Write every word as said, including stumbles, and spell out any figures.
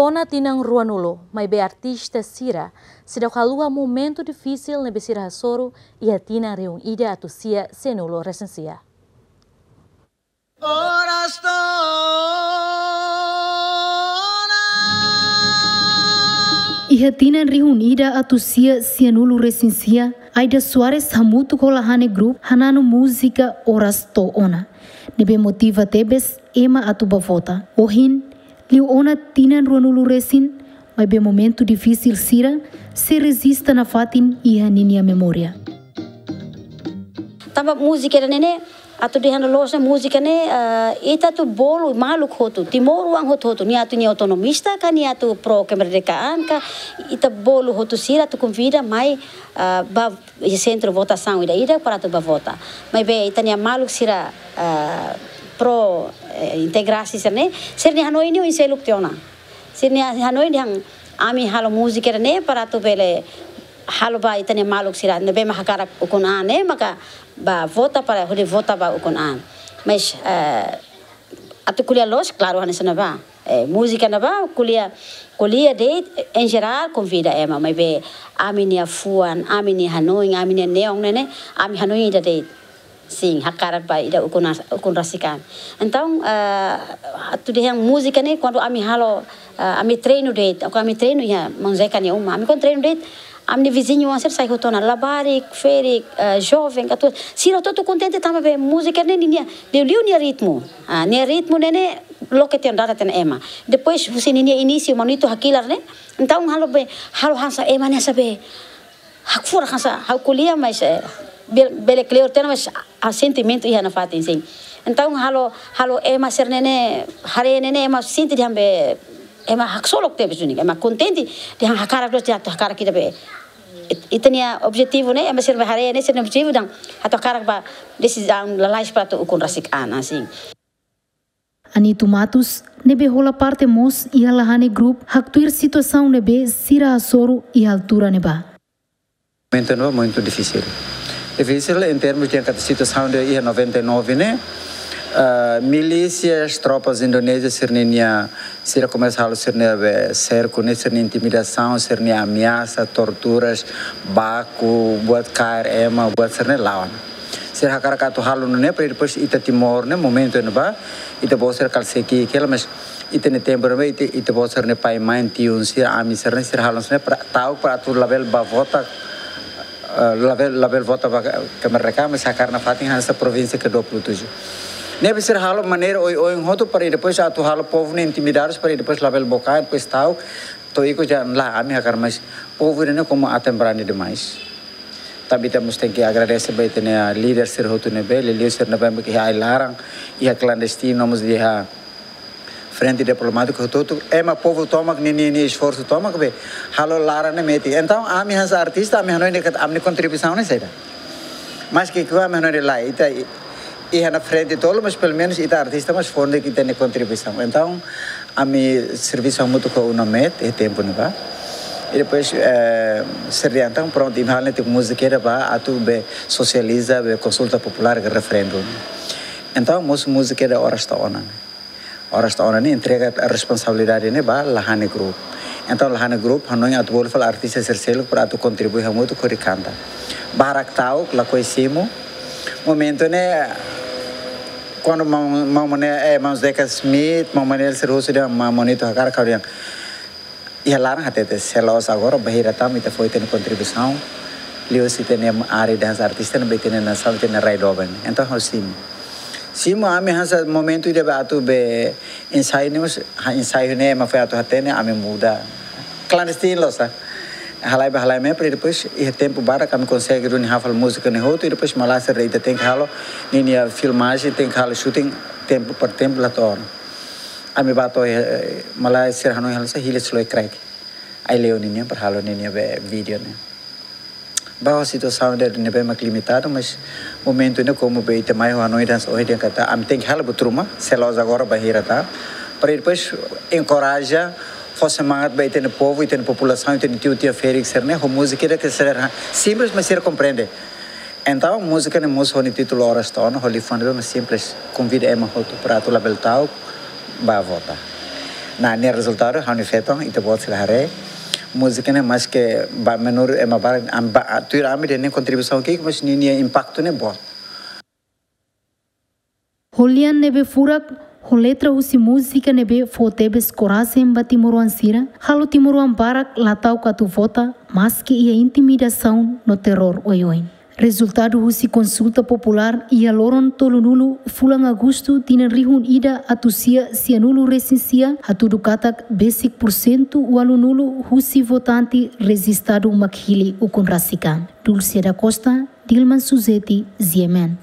Ona tinan ruanulu, maibé artista sira seidauk haluha momentu difisil ne'ebé sira hasoru iha tinan rihun ida atus sia sianulu resin sia. Oras to'o ona. Iha tinan rihun ida atus sia sianulu resin sia, Aida Soares hamutuk ho Lahane Group hananu múzika Oras To'o Ona, ne'ebé motiva tebes ema atu bá vota. Ohin, liu ona tinan ruanulu resin, maibé momentu difisil sira sei rejista nafatin iha ninia memória. Tanba múzika ida-ne'e ne'e, atu dehan loloos ne'e múzika ne'e, eh, ita atu bolu maluk hotu, timoroan hotu-hotu, nia atu nia autonomista ka, nia atu pró kemerdekaan ka, ita bolu hotu sira atu konvida mai, eh, ba iha sentru votasaun ida-idak para atu bá vota. Maibé ita-nia maluk sira, eh, pró, eh, integrasaun sira-ne'e, sira-nia hanoin ne'e oin seluk tiha ona. Sira-nia hanoin dehan ami halo múzika ida-ne'e para atu bele halo ba ita-nia maluk sira ne'ebé mak hakarak ukun an ne'e maka bá vota para hodi vota ba ukun an. Mas, eh, atu ko'alia loos, klaru, hanesan ne'ebá. Eh, múzika ne'ebá, ko'alia, ko'alia de'it, em geral, konvida ema, maibé ami-nia fuan, ami-nia hanoin, ami-nia neon ne'e ne'e, ami hanoin ida de'it. Sin, hakarak ba ida ukun as-, ukun rasik an. Entaun, eh, atu dehan múzika ne'e, kuandu ami halo, eh, ami treinu de'it, kuandu ami treinu iha maun Zeka nia uma, ami kuandu treinu de'it, ami-nia viziñu oan sira sai hotu ona, labarik, ferik, eh, joven, ka atu, sira hotu-hotu kontente tanba be múzika ne'e ninia, liuliu nia ritmu. Ah, nia ritmu ne'e ne'e loke tiha ona, dada tiha ona ema. Depois, husi ninia inísiu, maun Nito hakilar ne'e, entaun halo be, halo hanesan ema ne'e hanesan be hakfurak hanesan, ha'u ko'alia mas, eh, be-, bele kleur tiha ona mas, ah, sentimentu iha nafatin sin. Entaun halo, halo ema sira-ne'e ne'e, haree ne'e ne'e ema sente dehan be, ema haksolok tebes duni, ema kontente dehan hakarak loos, dehan atu hakarak ida be. It-, ita-nia objetivu ne'e, ema sira be haree ne'e sira-nia objetivu dehan atu hakarak ba desizaun lalais para atu ukun rasik an, hanesan. Anito Matos, ne'ebé hola parte mós iha Lahane Group, haktuir situasaun ne'ebé sira hasoru iha altura ne'ebá. Momentu ne'ebá momentu difisil. Difisil em termos de katak situasaun de iha noventa e nove ne'e, ah, milísias, tropas indonézias sira-ninia, sira komesa halo sira-nia be serku ne'e, sira-nia intimidasaun, sira-nia ameasa, torturas, baku, buat kaer ema, buat sira-ne'e la'o ona. Sira hakarak atu halo nune'e, para depois ita Timor ne'e, momentu ne'ebá, ita-boot sira kala sei ki'ik hela, mas ita-nia tempu ne'ebá, ita, ita-boot sira-nia pai, mãe, tiun sira, ami sira-ne'e, sira halo nune'e, para, ta'uk para atu labele bá vota, eh, labele, labele vota ba kemerdekaan, mas hakarak nafatin hanesan provínsia ke dua puluh tujuh. Ne'ebé sira halo maneira oioin hotu, para depois atu halo povu ne'e intimidadu, para depois labele boka, depois ta'uk, to'o ikus dehan lae, ami hakarak, mas povu ne'e komu aten brani demais. Tanba ita mós tenke agradese ba ita-nia líder sira hotu ne'ebé, liuliu sira ne'ebé mak iha ai-laran, iha klandestinu, mós iha frente diplomátika hotu-hotu, ema povu tomak ninia, ninia esforsu tomak be halo laran ne'e metin. Entaun, ami hanesan artista, ami hanoin katak ami-nia kontribuisaun ne'e saida. Maske ke ami hanoin lae, ita i-, iha ona frente tolu, mas pelumenus ita artista mós fó ona ita-nia kontribuisaun. Entaun, ami servisu hamutuk ho UNAMET iha tempu ne'ebá. I depois, eh, sira dehan entaun prontu, imi halo netik múzika ida ba atu be sosializa, be konsulta populár ka referendu. Entaun, mós múzika ida Oras To'o Ona. Oras To'o Ona ne'e entrega responsabilidade ne'e ba Lahane Group. Entaun, Lahane Group hanoin atu bolu fali artista sira seluk para atu kontribui hamutuk hodi kanta. Barak ta'uk, lakohi simu. Momentu ne'e, kuandu maun, maun Mane-, eh, maun Zeka Smith, maun Manuel sira husu dehan maun Nito hakarak, ha'u dehan iha laran hatete, se la'ós agora, bainhira tama ita fó ita-nia kontribuisaun, liuhusi ita-nia área dansa artista, ne'ebé ita-nia nasaun, ita-nia rai doben. Entaun, ha'u simu. Simu ami hanesan momentu ida be atu be ensaiu ne'e mós, ha, ensaiu ne'e ema foin atu hatene, ami muda. Klandestinu loos, ah. Halai ba halai mai, para depois, iha tempu badak, ami konsege duni hafal múzika ne'e hotu, i depois malae sira dehan ita tenke halo ninia filmajen, tenke halo shooting, tempu per tempu la to'o ona. Ami bá to'o, eh, malae sira hanoin halo hanesan hili Sloy Craig. Ai-Leon nian para halo ninia be vídeo ne'e. Ba situasaun ida ne'ebé mak limitadu, mas momentu ne'e komu be ita mai ho hanoin hanesan ohin dehan katak ami tenke halo buat ruma, se la'ós agora bainhira tan. Para depois enkoraja, fó semangat ba ita-nia povu, ita-nia populasaun, ita-nia tiu-tia ferik sira-ne'e, ho múzika ida ke sira simples, mas sira komprende. Entaun, múzika ne'e mós ho nia títulu Oras To'o Ona, ho liafuan ne'ebé mak simples, konvida ema hotu para atu labele ta'uk, bá vota. Nah, nia rezultadu ha'u-nia feton, ita-boot sira haree. Múzika ne'e maske ba menor ema barak, am ba, tuir ami dehan nia kontribuisaun ki'ik, mas nia, nia impaktu ne'e boot. Ho lian ne'ebé furak, ho letra husi múzika ne'ebé fó tebes korajen ba timoroan sira, halo timoroan barak la ta'uk atu vota, maske iha intimidasaun no terrór oioin. Rezultadu husi konsulta populár iha loron tolunulu fulan Agostu tinan rihun ida atus sia sianulu resin sia hatudu katak besik pursentu ualunulu husi votante rejistadu mak hili ukun rasik an. Dulce da Costa, Dilman Suzeti, G M N.